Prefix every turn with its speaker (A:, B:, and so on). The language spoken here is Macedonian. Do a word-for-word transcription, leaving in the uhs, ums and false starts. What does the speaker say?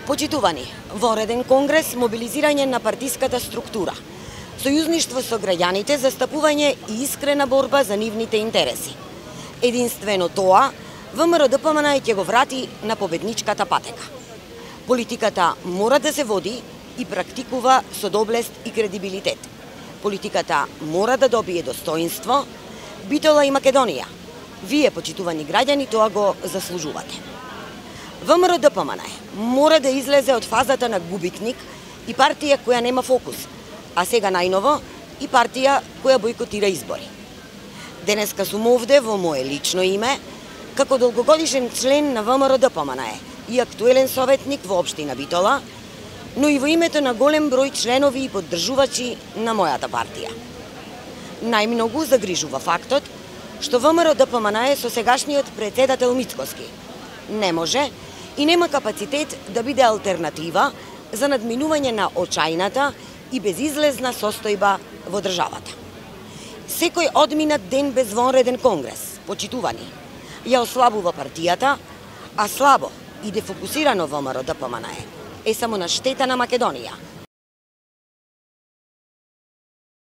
A: Почитувани, вонреден конгрес, мобилизирање на партиската структура, сојузништво со граѓаните, застапување и искрена борба за нивните интереси. Единствено тоа, ВМРО-ДПМН ќе го врати на победничката патека. Политиката мора да се води и практикува со доблест и кредибилитет. Политиката мора да добие достоинство, Битола и Македонија. Вие, почитувани граѓани, тоа го заслужувате. ВМРО-ДПМН мора да излезе од фазата на губитник и партија која нема фокус, а сега најново и партија која бойкотира избори. Денеска сум овде во мое лично име, како долгогодишен член на ВМРО-ДПМН и актуелен советник во општина Битола, но и во името на голем број членови и поддржувачи на мојата партија. Најмногу загрижува фактот што ВМРО-ДПМН со сегашниот претседател Мицкоски не може и нема капацитет да биде алтернатива за надминување на очајната и безизлезна состојба во државата. Секој одминат ден без вонреден конгрес, почитувани, ја ослабува партијата, а слабо и дефокусирано ВМРО-ДПМН е само на штета на Македонија,